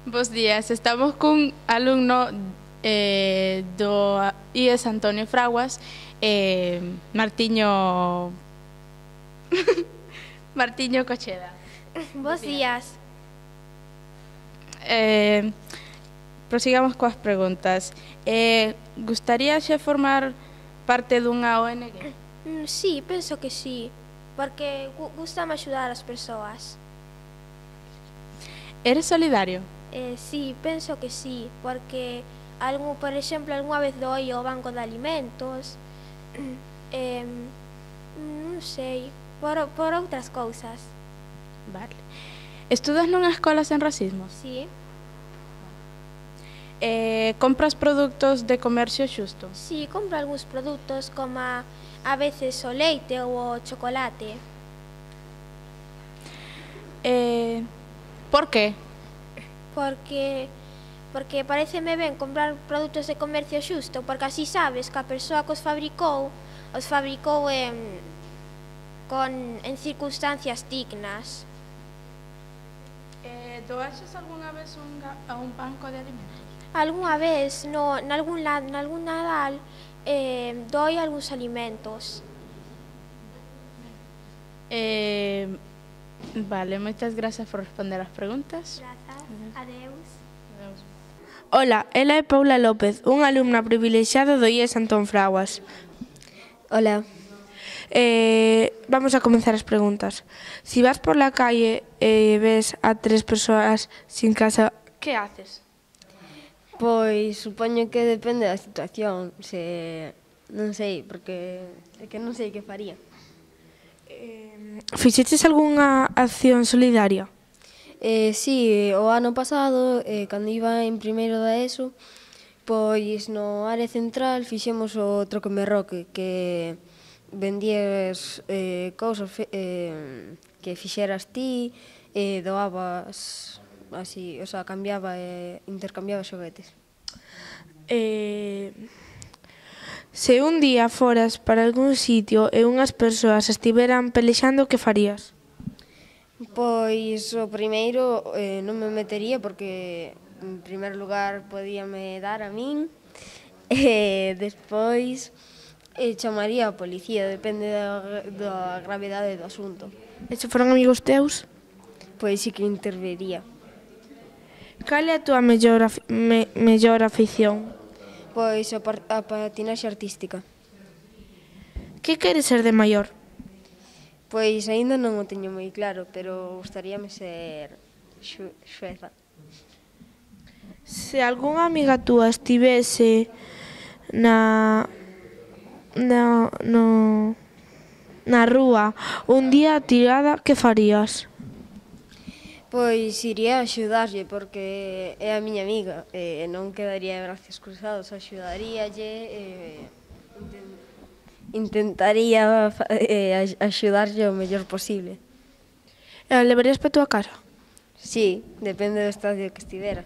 Bos días, estamos cun alumno do IES Antonio Fraguas, Martiño Martiño Cocheda. Bos días. Prosigamos coas preguntas. Gustaríaxe formar parte dunha ONG? Sí, penso que sí, porque gustame axudar as persoas. Eres solidario? Sí, penso que sí, porque, por exemplo, algunha vez doi ao banco de alimentos, non sei, por outras cousas. Vale. Estudas nunha escola sen racismo? Sí, Compras produtos de comercio xusto? sí, compro algúns produtos como a veces o leite ou o chocolate. Por que? Porque pareceme ben comprar produtos de comercio xusto, porque así sabes que a persoa que os fabricou en circunstancias dignas. Doaxes algunha vez a un banco de alimentos? Algunha vez, nalgún Nadal, doi algúns alimentos. Vale, moitas grazas por responder as preguntas. Grazas, adeus. Ola, ela é Paula López, unha alumna privilexiada do IES Antón Fraguas. Hola. Vamos a comenzar as preguntas. Si vas por la calle e ves a 3 persoas sin casa, que haces? Pois supoño que depende da situación, non sei, porque é que non sei que faría. Fixeches algunha acción solidaria? Sí, o ano pasado, cando iba en primeiro da ESO, pois no área central fixemos o troque merroque, que vendías cousas que fixeras ti, doabas así, o sea, intercambiaba xoguetes. Se un día foras para algún sitio e unhas persoas estiveran pelexando, que farías? Pois o primeiro non me metería porque en primeiro lugar podíame dar a min e despois chamaría a policía, depende da gravedade do asunto. E se foran amigos teus? Pois sí que intervería. Cal é a túa mellor afición? Pois a patinaxe artística. Que queres ser de maior? Pois aínda non o teño moi claro, pero gustaríame ser xueza. Se algunha amiga túa estivese na rúa un día tirada, que farías? Pois iría a axudarlle porque é a miña amiga e non quedaría de brazos cruzados, axudaríalle, intentaría axudarlle o mellor posible. E a levarías para a túa casa? Sí, depende do estadio que estivera.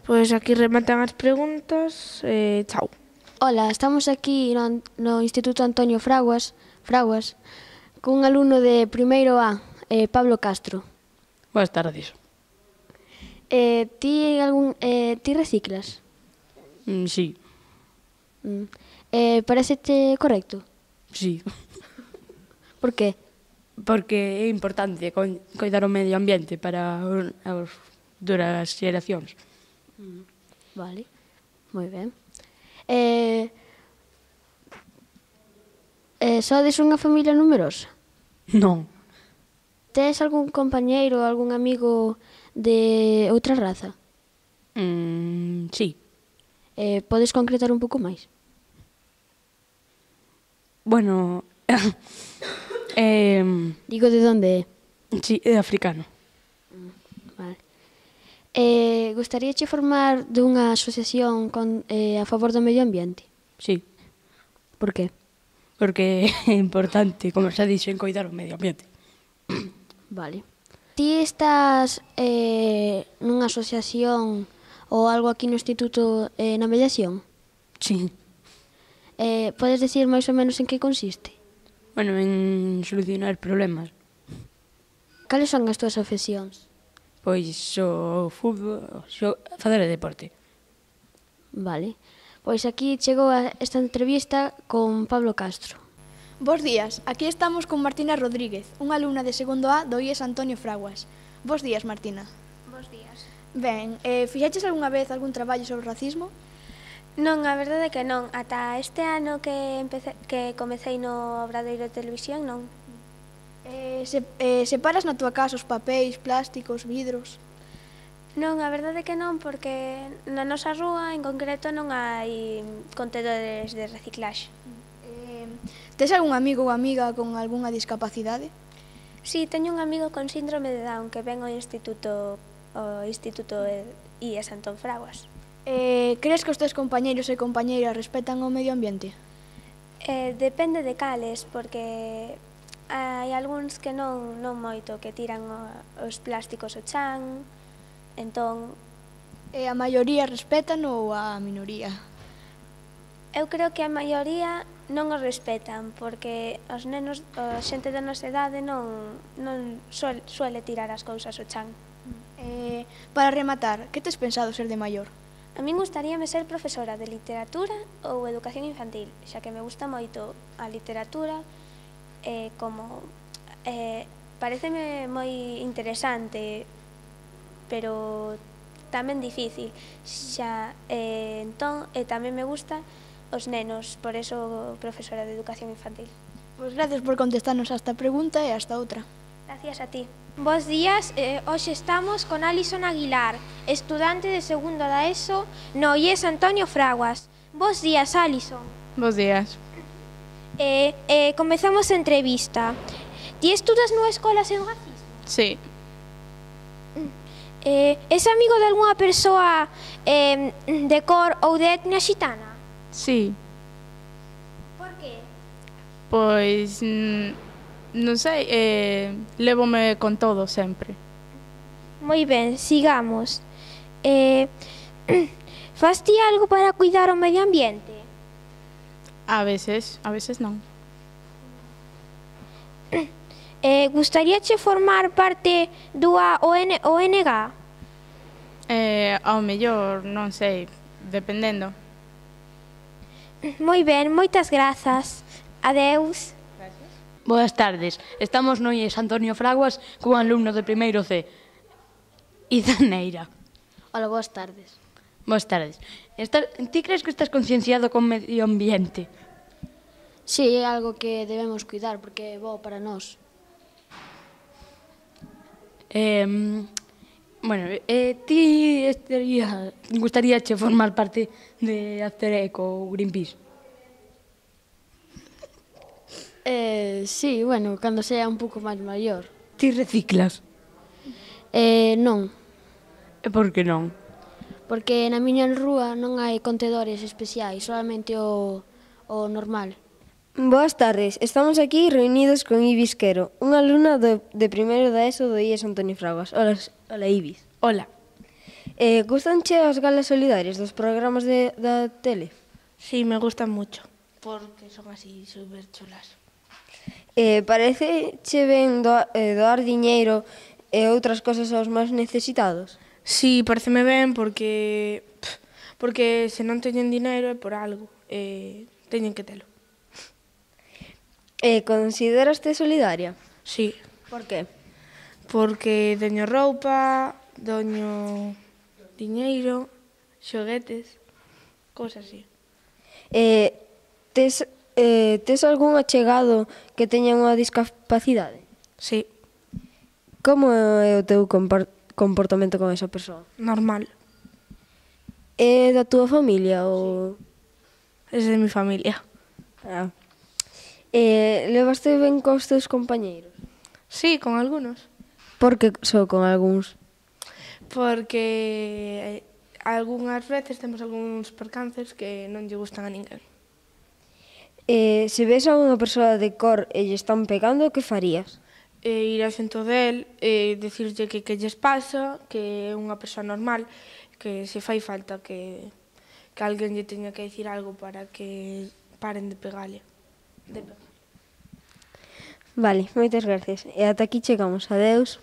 Pois aquí rematan as preguntas, chao. Ola, estamos aquí no Instituto Antonio Fraguas, cun alumno de primeiro A, Pablo Castro. Boas tardes. Ti reciclas? Sí. Parecete correcto? Sí. Por que? Porque é importante coidar o medio ambiente para as duras xeracións. Vale, moi ben. Sodes unha familia numerosa? Non. Tes algún compañeiro ou algún amigo de outra raza? Sí. Podes concretar un pouco máis? Bueno, Digo, de onde é? sí, é africano. Vale. Gustaríache formar dunha asociación a favor do medio ambiente? Sí, Por que? porque é importante, como xa dixen, coidar o medio ambiente. Vale. Ti estás nunha asociación ou algo aquí no instituto na mediación? Sí. Podes dicir máis ou menos en que consiste? Bueno, en solucionar problemas. Cales son as túas afeccións? Pois o fútbol, facer deporte. Vale. Pois aquí chegou esta entrevista con Pablo Castro. Bos días, aquí estamos con Martina Rodríguez, unha alumna de segundo A do IES Antonio Fraguas. Bos días, Martina. Bos días. Ben, fixaches algunha vez algún traballo sobre o racismo? Non, a verdade é que non. Ata este ano que comecei no Obradoiro de Televisión, non. Separas na túa casa os papéis, plásticos, vidros? Non, a verdade é que non, porque na nosa rúa en concreto non hai contedores de reciclaxe. Tes algún amigo ou amiga con algunha discapacidade? Si, teño un amigo con síndrome de Down que ven ao Instituto IES Antón Fraguas. Crees que os teus compañeiros e compañeiras respetan o medio ambiente? Depende de cales, porque hai algúns que non moito, que tiran os plásticos ao chan, entón... A maioría respetan ou a minoría? Eu creo que a maioría non os respetan, porque os nenos, a xente da nosa idade non suele tirar as cousas ao chan. Para rematar, que tes pensado ser de maior? A min gustaríame ser profesora de literatura ou educación infantil, xa que me gusta moito a literatura, pareceme moi interesante, pero tamén difícil, entón tamén me gusta os nenos, por eso profesora de educación infantil. Pois gracias por contestarnos a esta pregunta e a esta outra. Gracias a ti. Bos días, hoxe estamos con Alison Aguilar, estudante de segundo da ESO no IES Antonio Fraguas. Bos días, Alison. Bos días. Comezamos a entrevista. Ti estudas nunha escola sen racismo? Sí. Es amigo de algunha persoa de cor ou de etnia xitana? Sí. Por que? Pois, non sei, lévome con todo sempre. Moi ben, sigamos. Fas ti algo para cuidar o medio ambiente? A veces non. Gustaríache formar parte dunha ONG? Ao mellor, non sei, dependendo. Moi ben, moitas grazas. Adeus. Boas tardes. Estamos no IES Antonio Fraguas cun alumno de primeiro C. Idaneira. Hola, boas tardes. Boas tardes. Ti crees que estás concienciado con o medio ambiente? Sí, é algo que debemos cuidar porque é bo para nós. Ti gustaríache formar parte de Aztereco ou Greenpeace? Sí, bueno, cando sea un pouco máis maior. Ti reciclas? Non, E por que non? porque na miña rúa non hai contedores especiais, solamente o normal. Boas tardes, estamos aquí reunidos con Ibis Quero, unha alumna de primeiro da ESO do IES Antonio Fraguas. Hola Ibis. Hola. Gustanche as galas solidarias dos programas da tele? Sí, me gustan mucho, porque son así super chulas. Parece ben doar diñeiro e outras cosas aos máis necesitados? Sí, pareceme ben porque se non teñen dinero é por algo, teñen que telo. Consideraste solidaria? Sí, Por que? porque doño roupa, doño diñeiro, xoguetes, cosas así. Tes algún achegado que teña unha discapacidade? Sí, Como é o teu comportamento con esa persoa? normal, É da túa familia ou... es de mi familia. Ah. Levaste ben cos teus compañeiros? Sí, con algunos. Por que só con algúns? Porque algunhas veces temos algúns percances que non lle gustan a ninguén. Se ves a unha persoa de cor e lle están pegando, que farías? Ir ao xento del e dicirlle que lles pasa, que é unha persoa normal, que se fai falta que alguén lle teña que dicir algo para que paren de pegarle. Vale, moitas gracias. E ata aquí chegamos. Adeus.